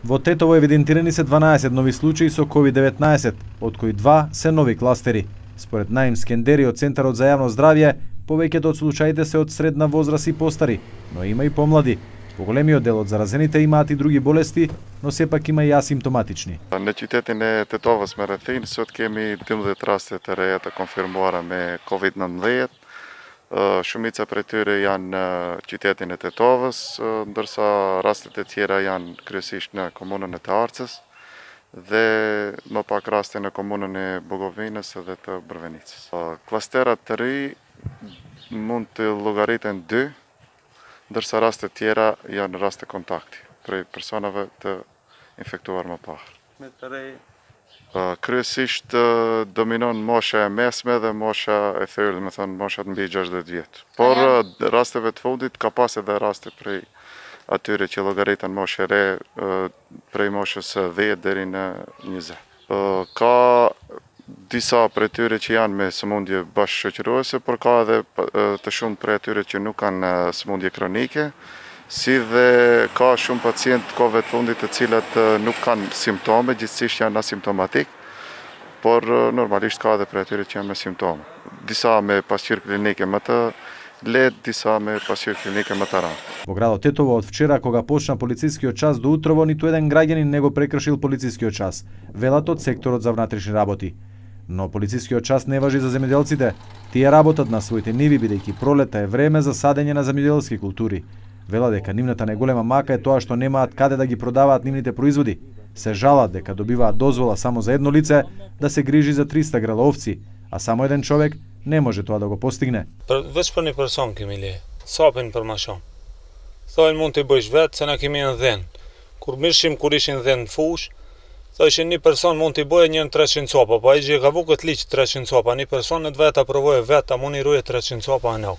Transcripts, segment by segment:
Во Тетово евидентирани се 12 нови случаи со COVID-19, од кои 2 се нови кластери. Според Наим Скендери од Центарот за јавно здравје, повеќето од случаите се од средна возраст и постари, но има и помлади. Поголемиот дел од заразените имаат и други болести, но сепак има и асимптоматични. На qytetin e Tetovës me rrethin, sot kemi 12 raste të reja të konfirmuara me COVID-19. Shumica prej tyre janë në qytetin e Tetovës, ndërsa rastet e tjera janë kryesisht në komunën e Të Arcës dhe më pak raste në komunën e Bugovinës dhe të Brvenicës. Klasterat të ri mund të llogariten 2, ndërsa rastet tjera janë raste kontakti prej personave të infektuar më parë. Kryesisht dominon mosha e mesme dhe mosha e thyrë, me thënë moshat mbi 60 vjetë. Por rasteve të fundit ka pas edhe raste prej atyre që llogariten moshë e re, prej moshës 10 deri në 20. Ka disa prej tyre që janë me sëmundje bashkëshoqëruese, por ka edhe të shumë prej tyre që nuk kanë sëmundje kronike, si dhe ka shumë pacientë kohëve të fundit të cilat nuk kanë simptome, gjithsesi janë asimptomatik, por normalisht ka edhe prej tyre që janë me simptome. Disa me pasqyrë klinike më të lehtë, disa me pasqyrë klinike më të rëndë. Во градот Тетово од вчера кога почна полицискиот час до утрово, ниту еден граѓанин не го прекршил полицискиот час, велат од секторот за внатрешни работи. Но полицискиот час не важи за земјоделците. Тие работат на своите ниви, бидејќи пролета е време за садење на земјоделски култури. Вела дека нивната најголема мака е тоа што немаат каде да ги продаваат нивните производи. Се жалат дека добиваат дозвола само за едно лице да се грижи за 300 грла овци, а само еден човек не може тоа да го постигне. Veç për një person kemi le, sapin për ma shumë. Thojnë mund të bëjsh vetë, se na kemi në dhenë. Kur ishin dhenë në fush, thojshin një person mund të bëjë një 300 copa, pa i gjë ka vu këtë liqë 300 copa, një person në vetë a provojë vetë, a mund i ruje 300 copa a nau.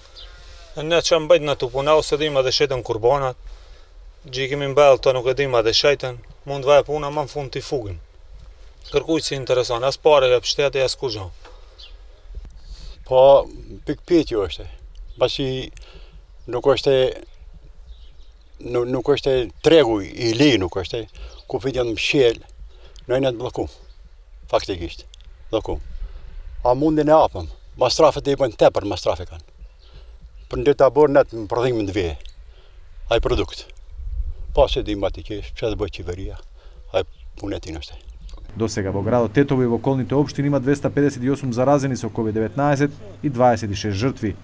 Ne që mbajt në të punau, se dhima dhe shetën kurbanat, gjë kemi mbellë të nuk e dhima dhe shetën, mund vaj puna ma në fund të i fugim. Kërkuj si intereson, as pare e pështete, as kur gjo. Po, pikpyetje është, pasi nuk është tregu i li, nuk është, ku fitjan më shqel, nëjnë të blokum, faktikisht, blokum. A mundin e apëm, mastrafet e i bëjnë tepër mastrafe kanë. Për në të bërë nëtë më prodhimën të vje, aj produkt. Pas e di mati kesh, që të bëjë qeveria, aj punetin është. До сега во градот Тетово и во околните општини има 258 заразени со COVID-19 и 26 жртви.